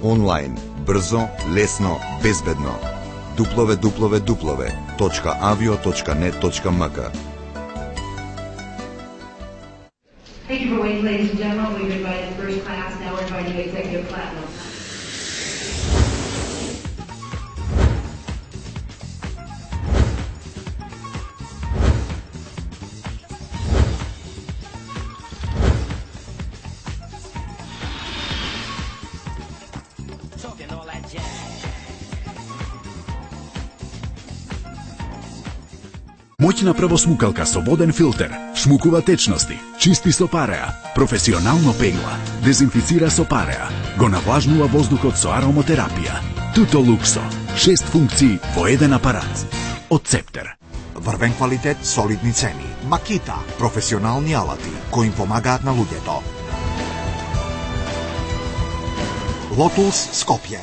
онлайн, брзо, лесно, безбедно. www.avio.net.mk. Thank you for waiting, ladies and gentlemen. We've invited first class, now we're inviting executive platinum. Моќна првосмукалка со воден филтер, шмукува течности, чисти со пареа, професионално пегла, дезинфицира со пареа, го навлажнува воздухот со ароматерапија. Туто Луксо, 6 функции во еден апарат. Од Цептер. Врвен квалитет, солидни цени. Макита, професионални алати кои им помагаат на луѓето. Лотус Скопје.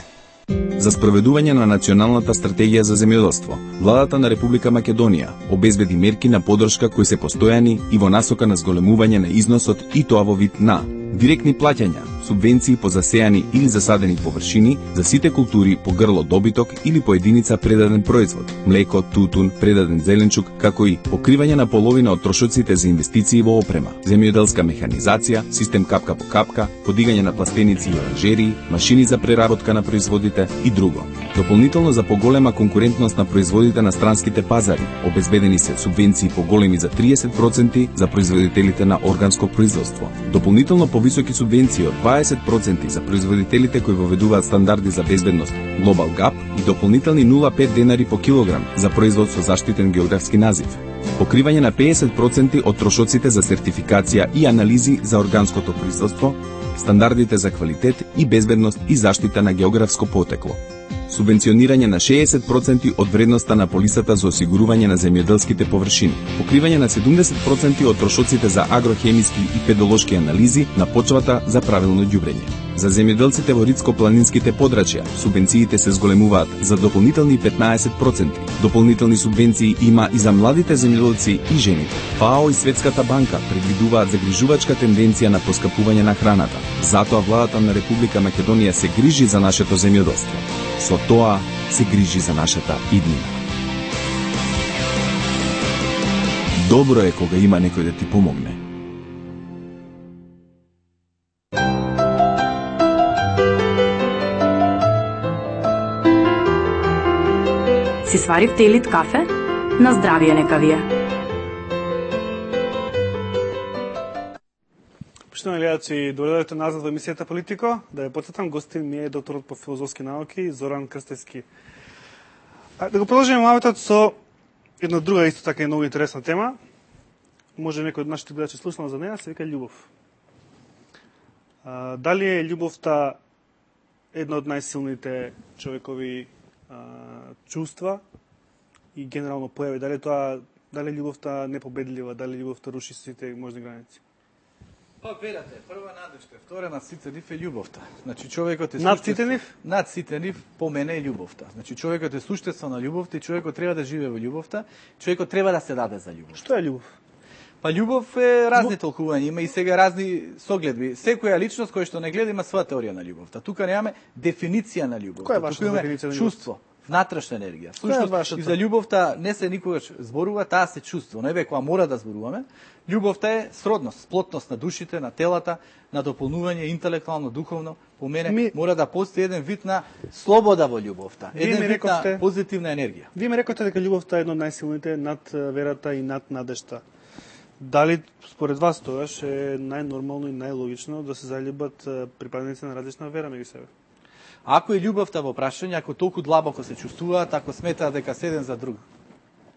За спроведување на националната стратегија за земјоделство, владата на Република Македонија обезбеди мерки на поддршка кои се постојани и во насока на зголемување на износот и тоа во вид на директни плаќања, субвенции по засејани или засадени површини за сите култури по грло добиток или по единица предаден производ, млеко, тутун, предаден зеленчук, како и покривање на половина од трошоците за инвестиции во опрема, земјоделска механизација, систем капка по капка, подигање на пластеници и оранжерии, машини за преработка на производите и друго. Дополнително за поголема конкурентност на производите на странските пазари, обезбедени се субвенции поголеми за 30% за производителите на органско производство. Дополнително повисоки субвенции од 20% за производителите кои воведуваат стандарди за безбедност Global Gap и дополнителни 0,5 денари по килограм за производ со заштитен географски назив. Покривање на 50% од трошоците за сертификација и анализи за органското производство, стандардите за квалитет и безбедност и заштита на географско потекло. Субвенционирање на 60% од вредноста на полисата за осигурување на земјоделските површини, покривање на 70% од трошоците за агрохемиски и педолошки анализи на почвата за правилно ѓубрење. За земјоделците во ридско-планинските подрачја, субвенциите се зголемуваат за дополнителни 15%. Дополнителни субвенции има и за младите земјоделци и жените. ФАО и Светската банка предвидуваат загрижувачка тенденција на поскапување на храната. Затоа владата на Република Македонија се грижи за нашето земјоделство. Со тоа се грижи за нашата иднина. Добро е кога има некој да ти помогне. Си сварив лит кафе? На здравие нека ви е. Поштовани гледачи, дојдовте назад во емисијата Политико. Да ја потсетам, гостин ми е докторот по филозофски науки Зоран Крстевски. Да го продолжиме мавитот со една друга исто така и многу интересна тема. Може некој од нашите гледачи слушнал за неја, се вика љубов. Дали е љубовта една од најсилните човекови чувства и генерално појави? Дали љубовта непобедлива, дали љубовта руши сите можни граници? Па берате, прва надежка, втора над сите нив е љубовта. Значи човекот е над сите нив? Над сите нив по мене е љубовта. Значи човекот е суштество на љубовта и човекот треба да живее во љубовта. Човекот треба да се даде за љубов. Што е љубов? Па љубов е разни толкувања, има и сега разни согледби. Секоја личност која што не гледа има своја теорија на љубовта. Тука немаме дефиниција на љубовта. Која е вашата дефиниција на чувство, внатрешна енергија. Всушност и за љубовта не се никогаш зборува, таа се чувство. Не бе кога мора да зборуваме. Љубовта е сродност, сплотност на душите, на телата, на дополнување интелектуално, духовно. По мене мора да постои еден вид на слобода во љубовта, еден вид на позитивна енергија. Вие ми рекоте дека љубовта е едно од најсилните над верата и над надежта. Дали според вас тогаш е најнормално и најлогично да се заљубат припадници на различна вера меѓу себе? Ако е љубовта во прашање, ако толку длабоко се чувствуваат, ако сметаат дека се еден за друг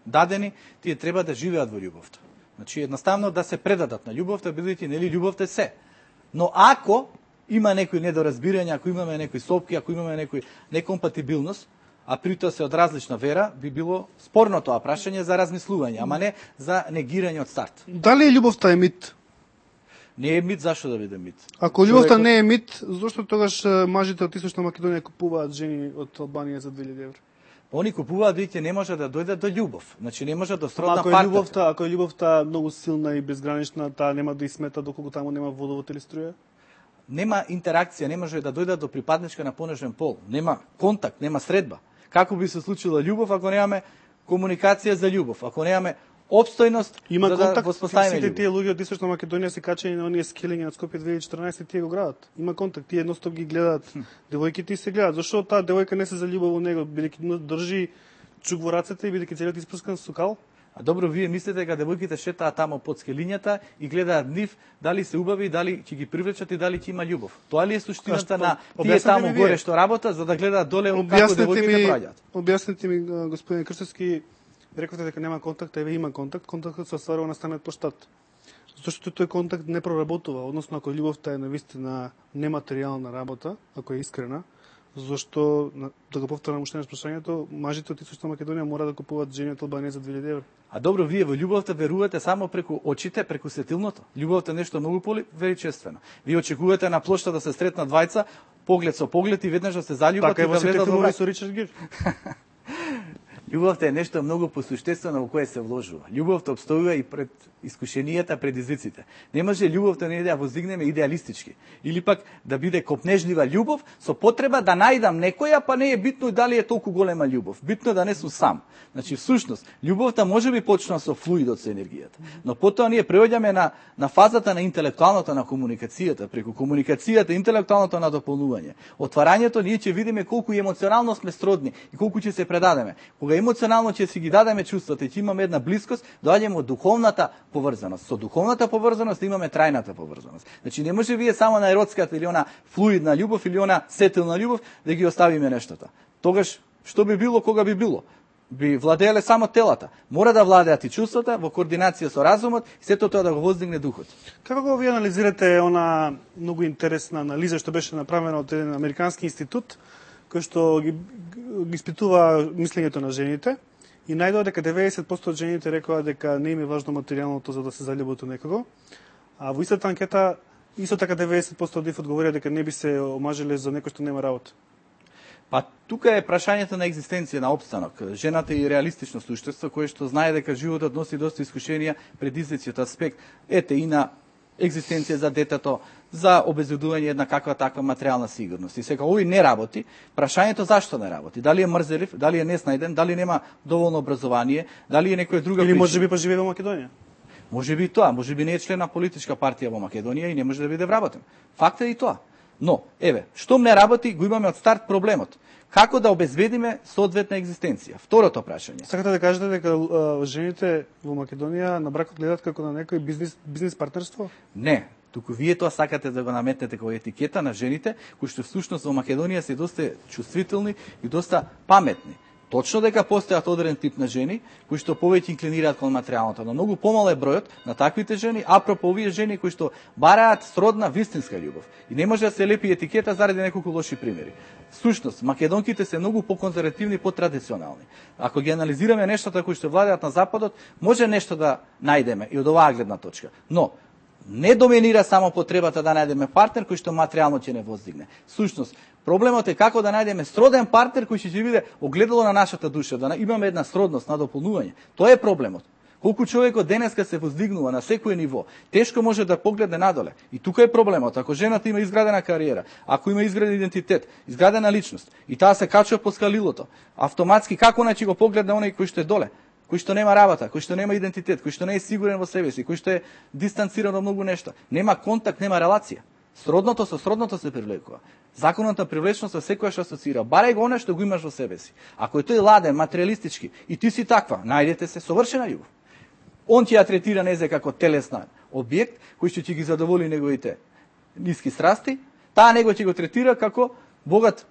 дадени, тие треба да живеат во љубовта. Значи едноставно да се предадат на љубовта, бидејќи нели љубовта е се. Но ако има некои недоразбирања, ако имаме некои сопки, ако имаме некои некомпатибилност, а при тоа се од различна вера, би било спорно тоа прашање за размислување, ама не за негирање од старт. Дали љубовта е мит? Не е мит, зашто да биде мит? Ако љубовта не е мит, зошто тогаш мажите од Источна Македонија купуваат жени од Албанија за 2000 евра? Они купуваат бидејќи не може да дојдат до љубов. Значи не може да сродна партата. Ако е љубовта многу силна и безгранична, таа нема да и смета доколку таму нема водовод или струја? нема интеракција, не може да дојдат до припадничка на понежен пол, нема контакт, нема средба. Како би се случила љубов ако немаме комуникација за љубов, ако немаме опстојност Има за да контакт, воспоставиме сите љубов? тие луѓе од Источна Македонија се качени на оние скелинги на Скопје 2014 тие го градат. Има контакт, тие едностоп ги гледаат, девојките и се гледаат. Зошто таа девојка не се заљубува во него, бидејќи држи чук во рацете и бидејќи целиот испрскан со кал? А добро, вие мислите дека девојките шетаат тамо под скелињата и гледаат нив, дали се убави, дали ќе ги привлечат и дали ќе има љубов. Тоа ли е суштината на тие таму горе што работат, за да гледаат доле како девојките праќаат? Објасните ми, господин Крстевски, рековте дека нема контакт, еве има контакт. Контактот се остварува на станет поштат. Зашто тој контакт не проработува, односно ако љубовта е навистина нематеријална работа, ако е искрена, зашто, да го повторам уште на прашањето, мажите од Источна Македонија мора да купуваат жени од Албанија за 2000 евра. А добро, вие во љубовта верувате само преку очите, преку сетилното. Љубовта е нешто многу величествено. Вие очекувате на плошта да се сретнат двајца, поглед со поглед и веднаш да се заљубат така и да влезат во брак. со Ричард Гир. Љубовта е нешто многу посуштествено во кое се вложува. Љубовта обстојува и пред искушенијата, предизвиците. Не може љубовта не да ја воздигнеме идеалистички. Или пак да биде копнежлива љубов со потреба да најдам некоја, па не е битно дали е толку голема љубов. Битно е да не сум сам. Значи, всушност, љубовта може би почнува со флуидот, со енергијата. Но потоа ние преоѓаме на фазата на интелектуалната, на комуникацијата, преку комуникацијата, интелектуалното надополнување. Отварањето ние ќе видиме колку емоционално сме сродни и колку ќе се предадеме. Кога емоционално ќе си ги дадеме чувствата и ќе имаме една блискост, доаѓаме од духовната поврзаност. Со духовната поврзаност имаме трајната поврзаност. Значи не може вие само на еротската или она флуидна љубов или она сетилна љубов да ги оставиме нештата. Тогаш што би било кога би било? Би владееле само телата. Мора да владеат и чувствата во координација со разумот и сето тоа да го воздигне духот. Како го вие анализирате она многу интересна анализа што беше направена од еден американски институт кој што ги испитува мислењето на жените и најдоа дека 90% од жените рекоа дека не им е важно материјалното за да се заљубат у некого, а во истата анкета исто така 90% од нив одговорија дека не би се омажиле за некој што нема работа. Па тука е прашањето на екзистенција, на опстанок. Жената е реалистично суштество кое што знае дека животот носи доста искушенија, предизвици од аспект и на екзистенција за детето, за обезбедување една каква таква материјална сигурност. И сега овој не работи, прашањето зашто не работи? Дали е мрзелив, дали е неснајден, дали нема доволно образование, дали е некоја друга причина? Или можеби па живее во Македонија? Можеби тоа, можеби не е член на политичка партија во Македонија и не може да биде вработен. Факт е и тоа. Но, еве, штом не работи, го имаме од старт проблемот. Како да обезбедиме соодветна екзистенција? Второто прашање. Сакате да кажете дека жените во Македонија на бракот гледат како на некој бизнес партнерство? Не. Туку вие тоа сакате да го наметнете како етикета на жените, кои што всушност во Македонија се доста чувствителни и доста паметни. Точно дека постојат одреден тип на жени кои што повеќе инклинираат кон материјалното, но многу помал е бројот на таквите жени, апропо овие жени кои што бараат сродна вистинска љубов. И не може да се лепи етикета заради неколку лоши примери. Всушност, македонките се многу поконзервативни, потрадиционални. Ако ги анализираме нештата кои што владеат на западот, може нешто да најдеме и од оваа гледна точка. Но не доминира само потребата да најдеме партнер кој што материјално ќе не воздигне. Всушност, проблемот е како да најдеме сроден партнер кој ќе биде огледало на нашата душа, да имаме една сродност на дополнување. Тоа е проблемот. Колку човекот денеска се воздигнува на секој ниво, тешко може да погледне надоле. И тука е проблемот. Ако жената има изградена кариера, ако има изграден идентитет, изградена личност, и таа се качува по скалилото, автоматски како ќе го погледне оној кој што е доле? Кој што нема работа, кој што нема идентитет, кој што не е сигурен во себе си, кој што е дистанциран од многу нешта. Нема контакт, нема релација. Сродното со сродното се привлекува. Законот на привлечност се секојаш асоцира. Барај го она што го имаш во себе си. Ако е тој ладен, материјалистички и ти си таква, најдете се совршена љубов. Он ќе ја третира незе како телесна објект кој што ќе ги задоволи неговите ниски страсти, таа него ќе го третира како богат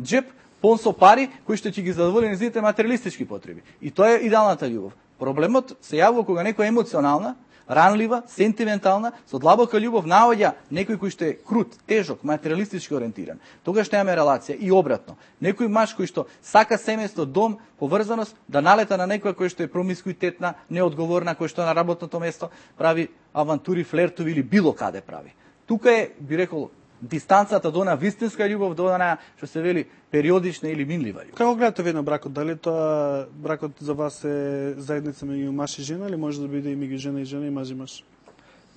џеп пон со пари кои што ќе ги задоволи незините материјалистички потреби. И тоа е идеалната љубов. Проблемот се јавува кога некоја емоционална, ранлива, сентиментална, со длабока љубов наоѓа некој кој што е крут, тежок, материјалистички ориентиран. Тогаш немаме релација и обратно. Некој маж кој што сака семејство, дом, поврзаност, да налета на некоја кој што е промискуитетна, неодговорна, кој што на работното место прави авантури, флертови или било каде прави. Тука е, би рекол, дистанцата до она вистинска љубов, до она што се вели периодична или минлива љубов. Како гледате вие на бракот? Дали тоа бракот за вас е заедница меѓу маж и жена или може да биде и меѓу жена и жена и маж и маж?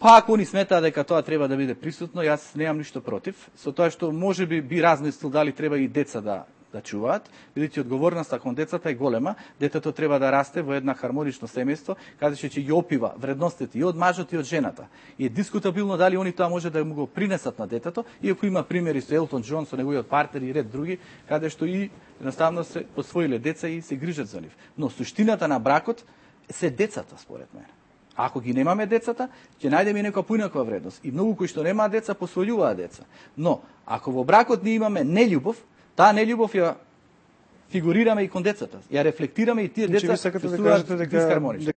Па ако они сметаат дека тоа треба да биде присутно, јас немам ништо против, со тоа што можеби би размислил дали треба и деца да чуваат, бидејќи одговорноста кон децата е голема, детето треба да расте во една хармонично семејство, каде што ќе ги опива вредностите и од мажот и од жената. И е дискутабилно дали они тоа може да му го принесат на детето, иако има примери со Елтон Џон, со неговиот партнер и ред други, каде што и едноставно се посвоиле деца и се грижат за нив. Но суштината на бракот се децата, според мене. Ако ги немаме децата, ќе најдеме и некоја поинаква вредност. И многу кои што немаат деца, посвојуваат деца. Но, ако во бракот ние имаме нељубов, таа нељубов ја фигурираме и кон децата. Ја рефлектираме и тие деца чувствуваат дисхармонично.